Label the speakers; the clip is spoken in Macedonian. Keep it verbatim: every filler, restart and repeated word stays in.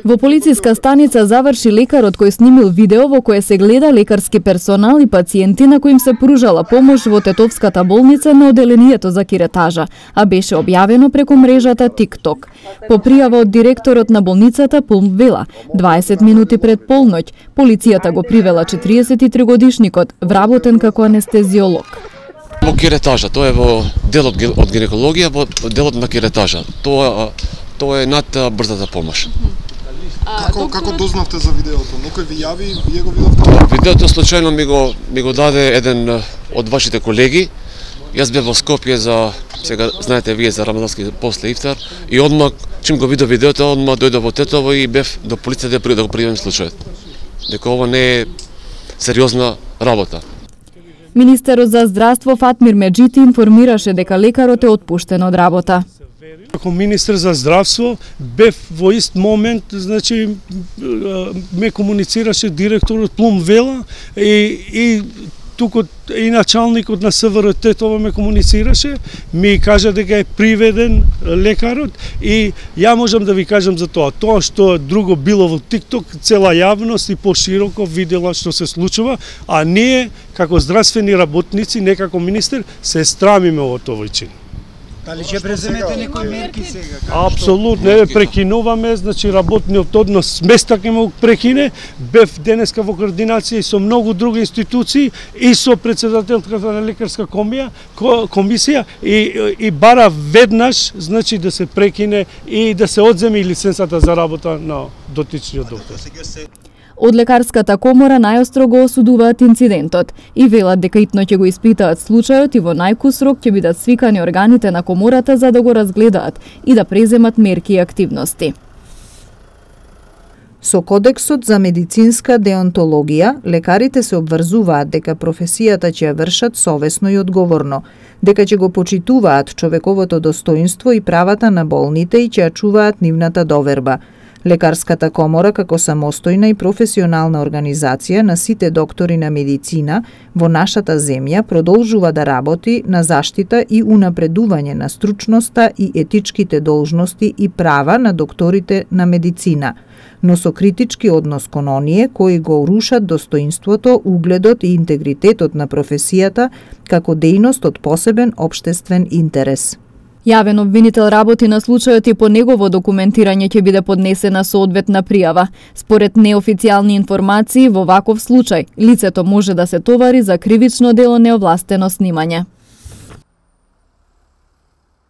Speaker 1: Во полициска станица заврши лекарот кој снимил видео во кое се гледа лекарски персонал и пациенти на кои им се пружала помош во Тетовската болница на оделението за киретажа, а беше објавено преку мрежата TikTok. По пријава од директорот на болницата Пулм Вела, дваесет минути пред полноќ, полицијата го привела четириесет и три годишникот, вработен како анестезиолог.
Speaker 2: Во киретажа, тоа е во делот од гинекологија, во делот на киретажа. Тоа Тоа е над брзата помош.
Speaker 3: Како како дознавте за видеото? Некој ви јави, вие го видовте?
Speaker 2: Видеото случајно ми го ми го даде еден од вашите колеги. Јас бев во Скопје за сега знаете вие за рамадански после ифтар и одмак чим го видов видеото, одмак дојдов во Тетово и бев до полицијата да го пријавам случајот. Дека ова не е сериозна работа.
Speaker 1: Министерот за здравство Фатмир Меджити информираше дека лекарот е отпуштен од работа.
Speaker 4: Како министер за здравство бев во ист момент, значи ме комуницираше директорот Плум Вела и и туку и началникот на СВР Тетово ме комуницираше, ми кажа дека е приведен лекарот и ја можам да ви кажам за тоа. Тоа што друго било во TikTok, цела јавност и пошироко видела што се случува, а ние како здравствени работници, не како министер, се страмиме од овој чин.
Speaker 5: Дали ќе преземете некои мерки сега?
Speaker 4: Апсолутно, не прекинуваме, значи работниот однос места ќе му прекине. Бев денеска во координација и со многу други институции и со претседателката на лекарска комија, комисија и и бара веднаш, значи да се прекине и да се одземе лиценцата за работа на дотичниот доктор.
Speaker 1: Од лекарската комора најостро го осудуваат инцидентот и велат дека итно ќе го испитаат случајот и во најкус рок ќе бидат свикани органите на комората за да го разгледаат и да преземат мерки и активности.
Speaker 6: Со Кодексот за медицинска деонтологија, лекарите се обврзуваат дека професијата ќе ја вршат совесно и одговорно, дека ќе го почитуваат човековото достоинство и правата на болните и ќе ја чуваат нивната доверба. Лекарската комора како самостојна и професионална организација на сите доктори на медицина во нашата земја продолжува да работи на заштита и унапредување на стручноста и етичките должности и права на докторите на медицина, но со критички однос кон оние кои го урушат достоинството, угледот и интегритетот на професијата како дејност од посебен општествен интерес.
Speaker 1: Јавен обвинител работи на случајот и по негово документирање ќе биде поднесена соодветна пријава. Според неофицијални информации, во ваков случај, лицето може да се товари за кривично дело неовластено снимање.